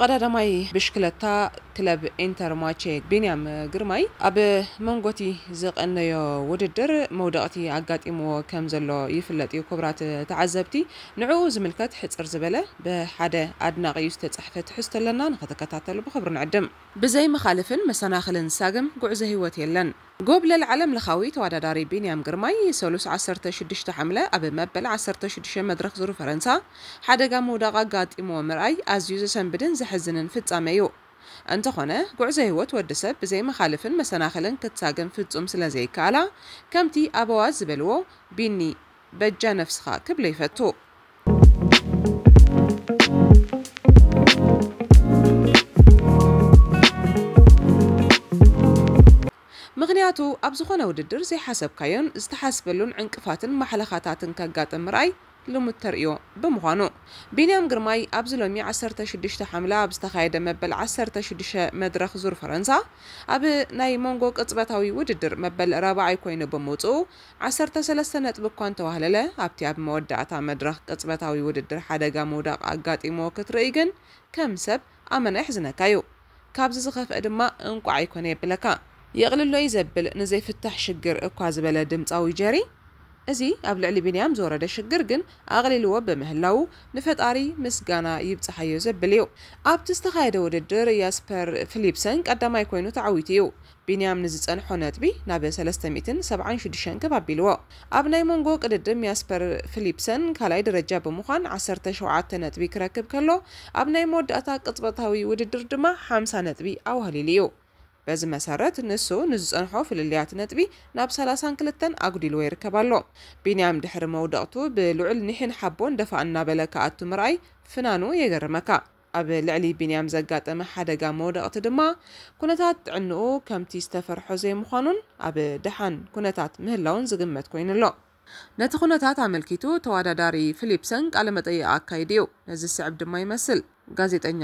ቀዳዳማይ ብሽክለታ ክለብ ኢንተርማቼ ቢንያም ግርማይ ኣብ መንጎቲ ዝቐነዮ ውድድር መውደቕቲ ኣጋጢምዎ ከም ዘሎ ይፍለጥ እዩ። ክቡራት ተዓዘብቲ፣ ንዕኡ ዝምልከት ሕጽር ዝበለ ብሓደ ኣድናቒ ዝተጻሕፈ ትሕዝቶ ኣለና፣ ንኽትከታተሉ ብኽብሪ ንዕድም። ብዘይ መኻልፍን መሰናኽልን ሳግም ጉዕዞ ህይወት የለን። ጎብለል ዓለም ለኻዊ ተወዳዳሪ ቢንያም ግርማይ ሰሉስ ዓሰርተ ሽዱሽተ ሓምለ ኣብ መበል ዓሰርተ ሽዱሽተ መድረኽ ዙር ፈረንሳ ሓደጋ ምውዳቕ ኣጋጢምዎ ምርኣይ ኣዝዩ ዘሰንብድን ዘሕዝንን ፍጻመ እዩ። እንተኾነ፣ ጉዕዞ ህይወት ወዲ ሰብ ብዘይ መኻልፍን መሰናኽልን ክትሳግም ፍጹም ስለ ዘይከኣላ፣ ከምቲ ኣበዋት ዝበልዎ፣ ቢኒ፣ በጃ ነፍስኻ ክብሎ ይፈቱ። ምኽንያቱ፣ ኣብ ዝኾነ ውድድር ዘይሓሰብካዮን ዝተሓስበሉን ዕንቅፋትን ማሕለኻታትን ከጋጥም ምርኣይ ልሙድ ተርእዮ ብምዃኑ፣ ቢንያም ግርማይ ኣብዚ ሎሚ ዓሰርተ ሽዱሽተ ሓምለ ኣብ ዝተኻየደ መበል ዓሰርተ ሽዱሽተ መድረኽ ዙር ፈረንሳ፣ ኣብ ናይ መንጎ ቅጽበታዊ ውድድር መበል ራብዓይ ኮይኑ ብምውጽኡ፣ ዓሰርተ ሰለስተ ነጥቢ እኳ እንተዋህለለ፣ ኣብቲ ኣብ መወዳእታ መድረኽ ቅጽበታዊ ውድድር ሓደጋ ምውዳቕ ኣጋጢምዎ ክትርኢ ግን፣ ከም ሰብ ኣመና የሕዝነካ እዩ። ካብዚ ዝኸፍአ ድማ እንቋዕ ኣይኮነ የብለካ። የቕልሎ እዩ ዘብል ንዘይፍታሕ ሽግር እኳ ዝበለ ድምጻዊ ጀሪ፣ እዚ ኣብ ልዕሊ ቢንያም ዝወረደ ሽግር ግን ኣቕሊልዎ ብምህላዉ ንፈጣሪ ምስጋና ይብጽሓዮ ዘብል እዩ። ኣብቲ ዝተኻየደ ውድድር ያስፐር ፊሊፕሰን ቀዳማይ ኮይኑ ተዓዊቱ እዩ። ቢንያም ንዝጸንሖ ነጥቢ ናብ ሰለስተ ሚእትን ሰብዓን ሽዱሽተን ከብ ኣቢልዎ። ኣብ ናይ መንጎ ቅድድም ያስፐር ፊሊፕሰን ካልኣይ ደረጃ ብምዃን ዓሰርተ ሸውዓተ ነጥቢ ክረክብ ከሎ፣ ኣብ ናይ መወዳእታ ቅጽበታዊ ውድድር ድማ ሓምሳ ነጥቢ ኣዋህሊሉ እዩ። በዚ መሰረት፣ ንሱ ንዝጸንሖ ፍልልያት ነጥቢ ናብ ሰላሳን ክልተን ኣጉዲልዎ ይርከብ ኣሎ። ቢንያም ድሕሪ መውደቕቱ ብልዑል ኒሕን ሓቦን ደፋእ እናበለ ክኣቱ ምርኣይ ፍናኑ የገርመካ። ኣብ ልዕሊ ቢንያም ዘጋጠመ ሓደጋ መውደቕቲ ድማ፣ ኩነታት ጥዕንኡ ከምቲ ዝተፈርሖ ዘይምዃኑን ኣብ ደሓን ኩነታት ምህላውን ዝግመት ኮይኑ ኣሎ። ነቲ ኩነታት ኣመልኪቱ ተወዳዳሪ ፊሊፕሰን ቃለ መጠይቕ ኣካይዱ እዩ። ነዚ ዝስዕብ ድማ ይመስል። ጋዜጠኛ፣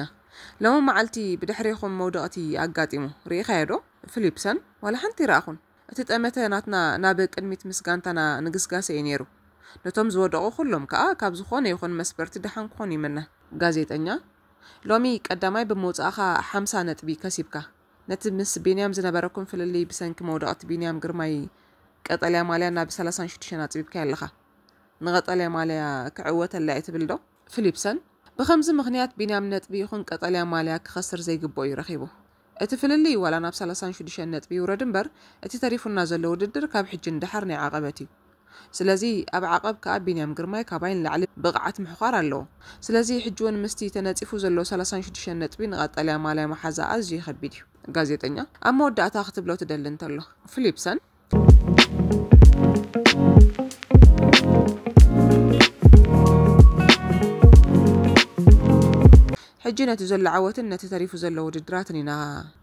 ሎሚ መዓልቲ ብድሕሬኹም መውደቕቲ ኣጋጢሙ፣ ርኢኻዮ ዶ? ፊሊፕሰን፣ ዋላ ሓንቲ ይረኣኹን። እቲ ጠመተ ናትና ናብ ቅድሚት ምስ ጋንታና ንግስጋሰ እዩ ነይሩ። ነቶም ዝወደቑ ኩሎም ከኣ ካብ ዝኾነ ይኹን መስበርቲ ደሓን ክኾኑ ይምነ። ጋዜጠኛ፣ ሎሚ ቀዳማይ ብምውጻእኻ ሓምሳ ነጥቢ ከሲብካ። ነቲ ምስ ቢንያም ዝነበረኩም ፍልልይ ብሰንኪ መውደቕቲ ቢንያም ግርማይ ቀጠልያ ማልያ ናብ ሰላሳን ሽዱሽተን ኣጽቢብካዮ ኣለኻ። ንቐጠልያ ማልያ ክዕወተላ እየ ትብል ዶ? ፊሊፕሰን፣ ብኸምዚ ምኽንያት ቢንያም ነጥቢ ይኹን ቀጠልያ ማልያ ክኸስር ዘይግብኦ እዩ ረኺቡ። እቲ ፍልልይ ዋላ ናብ ሰላሳን ሽዱሽተን ነጥቢ ይውረድ እምበር፣ እቲ ተሪፉና ዘሎ ውድድር ካብ ሕጂ ንደሓር ናይ ዓቐበት እዩ። ስለዚ ኣብ ዓቐብ ከኣ ቢንያም ግርማይ ካባይ ንላዕሊ ብቕዓት ምሕዃር ኣለዎ። ስለዚ ሕጂ እውን ምስቲ ተነጺፉ ዘሎ ሰላሳን ሽዱሽተን ነጥቢ ንቐጠልያ ማልያ መሓዛ ኣዝዩ ከቢድ እዩ። ጋዜጠኛ፣ ኣብ መወዳእታ ክትብሎ ትደሊ እንተሎ፣ ፊሊፕሰን፣ ሕጂ ነቲ ዘሎ ዓወትን ነቲ ተሪፉ ዘሎ ውድድራትን ኢና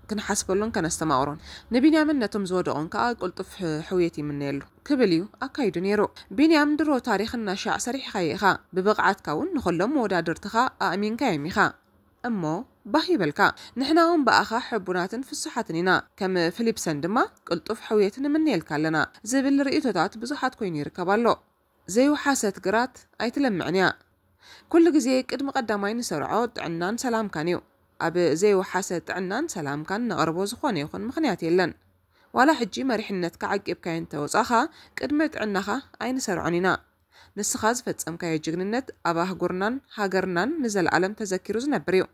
ክንሓስበሉን ከነስተማቕሮን። ንቢንያምን ነቶም ዝወደቑን ከኣ ቅልጡፍ ሕ-፣ ሕውየት ይምነየሉ ክብል እዩ ኣካይዱ ነይሩ። ቢንያም፣ ድሮ ታሪኽ እናሻዕ ሰሪሕኻዮ ኢኻ። ብብቕዓትካ እውን ንኹሎም መወዳድርትኻ ኣእሚንካዮም ኢኻ። እሞ ባህ ይበልካ። ንሕና እውን ብኣኻ ሕቡናትን ፍሱሓትን ኢና። ከም ፊሊፕሰን ድማ ቅልጡፍ ሕውየት ንምነየልካ ኣለና ዝብል ርእይቶታት ብዙሓት ኮይኑ ይርከብ ኣሎ። ዘይወሓሰት ግራት ኣይትለምዕን እያ። ኩሉ ግዜ ቅድሚ ቀዳማይ ንሰርዖ ጥዕናን ሰላምካን እዩ። ኣብ ዘይወሓሰ ጥዕናን ሰላምካን ነቕርቦ ዝኾነ ይኹን ምኽንያት የለን። ዋላ ሕጂ መሪሕነትካ ዓቂብካዮ እንተወጻኻ፣ ቅድሚ ጥዕናኻ ኣይንሰርዖን ኢና። ንስኻ ዝፈጸምካዮ ጅግንነት ኣብ ኣህጉርናን ሃገርናን ንዘለኣለም ተዘኪሩ ዝነብር እዩ።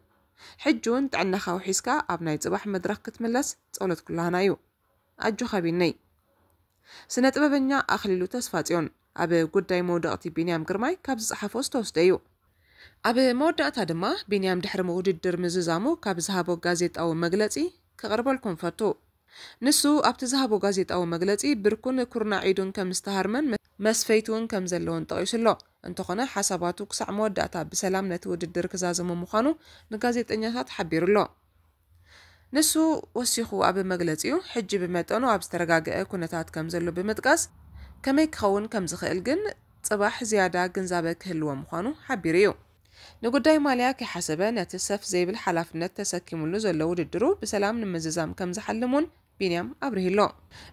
ሕጂ እውን ጥዕናኻ ውሒስካ ኣብ ናይ ጽባሕ መድረኽ ክትምለስ ጸሎት ኩላህና እዩ። ኣጆኻ ቢነይ። ስነ ጥበበኛ ኣኽሊሉ ተስፋጽዮን ኣብ ጉዳይ መውደቕቲ ቢንያም ግርማይ ካብ ዝጸሓፎ ዝተወስደ እዩ። ኣብ መወዳእታ ድማ ቢንያም ድሕሪ ውድድር ምዝዛሙ ካብ ዝሃቦ ጋዜጣዊ መግለጺ ከቕርበልኩም ፈቱ። ንሱ ኣብቲ ዝሃቦ ጋዜጣዊ መግለጺ ብርኩን ኩርናዕ ኢዱን ከም ዝተሃርመን መ-፣ መስፈይቱ እውን ከም ዘለዎን ጠቒሱ ኣሎ። እንተኾነ ሓሳባቱ ክሳዕ መወዳእታ ብሰላም ነቲ ውድድር ክዛዘሞ ምዃኑ ንጋዜጠኛታት ሓቢሩ ኣሎ። ንሱ ወሲኹ ኣብ መግለጺኡ፣ ሕጂ ብመጠኑ ኣብ ዝተረጋግአ ኩነታት ከም ዘሎ ብምጥቃስ፣ ከመይ ክኸውን ከም ዝኽእል ግን ጽባሕ ዝያዳ ግንዛበ ክህልዎ ምዃኑ ሓቢሩ እዩ። ንጉዳይ ማልያ ከይሓሰበ፣ ነቲ ሰፍ ዘይብል ሓላፍነት ተሰኪሙሉ ዘሎ ውድድሩ ብሰላም ንምዝዛም ከም ዝሓልም እውን ቢንያም ኣብሪሂ ኣሎ።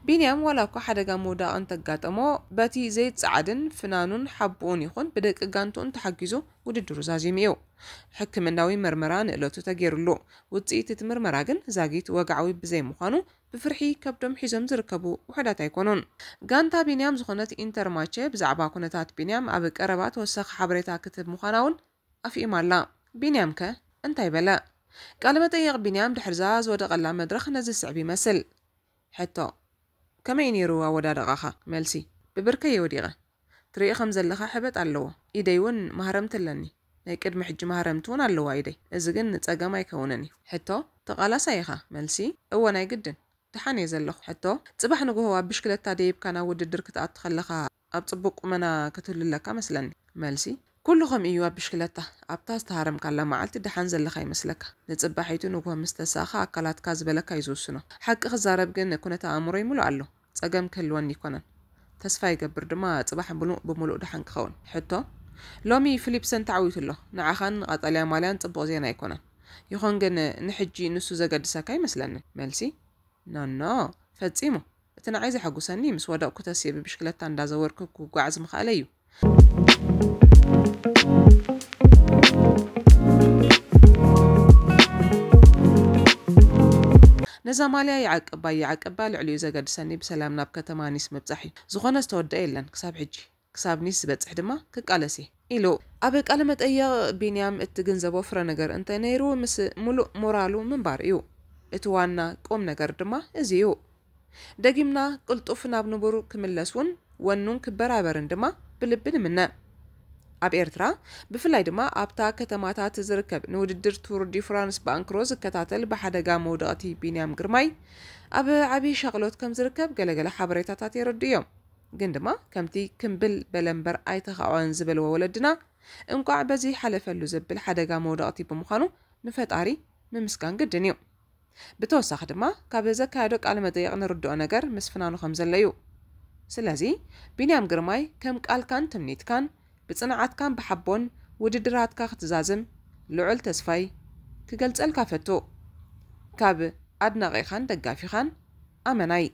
ቢንያም ዋላ እኳ ሓደጋ ምውዳቕ እንተጋጠሞ፣ በቲ ዘይጸዓድን ፍናኑን ሓቦኡን ይኹን ብደቂ ጋንትኡን ተሓጊዙ ውድድሩ ዛዚሙ እዩ። ሕክምናዊ መርመራ ንእለቱ ተገይሩሉ። ውጽኢት እቲ ምርመራ ግን ዛጊት ወግዓዊ ብዘይምዃኑ፣ ብፍርሒ ከብዶም ሒዞም ዝርከቡ ውሑዳት ኣይኮኑን። ጋንታ ቢንያም ዝኾነት ኢንተርማቸ ብዛዕባ ኩነታት ቢንያም ኣብ ቀረባ ተወሳኺ ሓበሬታ ክትህብ ምዃና እውን ኣፍኢማ ኣላ። ቢንያም ከ እንታይ በለ? ቃለ መጠይቕ ቢንያም ድሕርዛ ዝወደቐላ መድረኽ ነዚ ዝስዕብ ይመስል። ሕቶ፣ ከመይ ነይሩ ኣወዳድቓኻ? መልሲ፣ ብብርከይ ወዲቐ። ትርኢ ከም ዘለኻ ሕበጥ ኣለዎ። ኢደይ እውን ማህረምቲ ኣለኒ። ናይ ቅድሚ ሕጂ ማህረምቲ እውን ኣለዋ ኢደይ። እዚ ግን ጸገም ኣይከውንን እዩ። ሕቶ፣ ተቓላሳይ ኢኻ? መልሲ፣ እወ ናይ ግድን። ደሓን እየ ዘለኹ። ሕቶ፣ ጽባሕ ንግሆ ኣብ ብሽክለታ ደይብካ ናብ ውድድር ክትኣቱ ከለኻ ኣብ ጽቡቕ ቁመና ክትህሉ ኣለካ መስለኒ። መልሲ፣ ኩሉ ከምኡ እዩ ኣብ ብሽክለታ። ኣብታ ዝተሃረምካላ መዓልቲ ደሓን ዘለኻ ይመስለካ። ንጽባሒቱ ንግሆ ምስ ተሳእኻ ኣካላትካ ዝበለካ እዩ ዝውስኖ። ሓቂ ክዛረብ ግን ኩነተ ኣእምሮይ ምሉእ ኣሎ። ጸገም ክህልወኒ ኣይኮነን። ተስፋ ይገብር ድማ ጽባሕ ምሉእ ብምሉእ ደሓን ክኸውን። ሕቶ፣ ሎሚ ፊሊፕሰን ተዓዊቱ ኣሎ። ንዓኻን ቀጠልያ ማልያን ጽቡቕ ዜና ኣይኮነን። ይኹን ግን ንሕጂ ንሱ ዘገድሰካ ኣይመስለንን። መልሲ፣ ኖኖ፣ ፈጺሙ። እቲ ንዓይ ዘሐጉሰኒ ምስ ወደቕኩ ተስየ ብብሽክለታ እንዳዘወርኩ ክጓዓዝ ምኽኣለ እዩ። ነዛ ማልያ ይዓቅባ ይዓቅባ ልዕሊኡ ዘገድሰኒ ብሰላም ናብ ከተማ ኒስ ምብጻሕ እዩ። ዝኾነ ዝተወደአ የለን ክሳብ ሕጂ። ክሳብ ኒስ ዝበጽሕ ድማ ክቃለስ እየ ኢሉ። ኣብ ቃለ መጠይቕ ቢንያም እትግንዘቦ ፍረ ነገር እንተነይሩ ምስ ሙሉእ ሞራሉ ምንባር እዩ። እቲ ዋና ቁም ነገር ድማ እዚ እዩ። ደጊምና ቅልጡፍ ናብ ንቡር ክምለስ እውን ወኑን ክበራበርን ድማ ብልቢ ንምነ። ኣብ ኤርትራ ብፍላይ ድማ ኣብታ ከተማታት ዝርከብ ንውድድር ቱር ዲ ፍራንስ ብኣንክሮ ዝከታተል ብሓደጋ መውደቕቲ ቢንያም ግርማይ ኣብ ዓብዪ ሻቕሎት ከም ዝርከብ ገለገለ ሓበሬታታት የረድኡ እዮም። ግን ድማ ከምቲ ክምብል በለ እምበር ኣይተኻዕወን ዝበልዎ ወለድና፣ እንቋዕ በዚ ሓለፈሉ ዘብል ሓደጋ መውደቕቲ ብምዃኑ ንፈጣሪ ምምስጋን ግድን እዩ። ብተወሳኺ ድማ ካብ ዘካየዶ ቃለ መጠይቕ ንርድኦ ነገር ምስ ፍናኑ ከም ዘሎ እዩ። ስለዚ ቢንያም ግርማይ ከም ቃልካን ትምኒትካን ብጽንዓትካን ብሓቦን ውድድራትካ ክትዛዝም ልዑል ተስፋይ ክገልጸልካ ፈቱ። ካብ ኣድናቒኻን ደጋፊኻን ኣመናይ።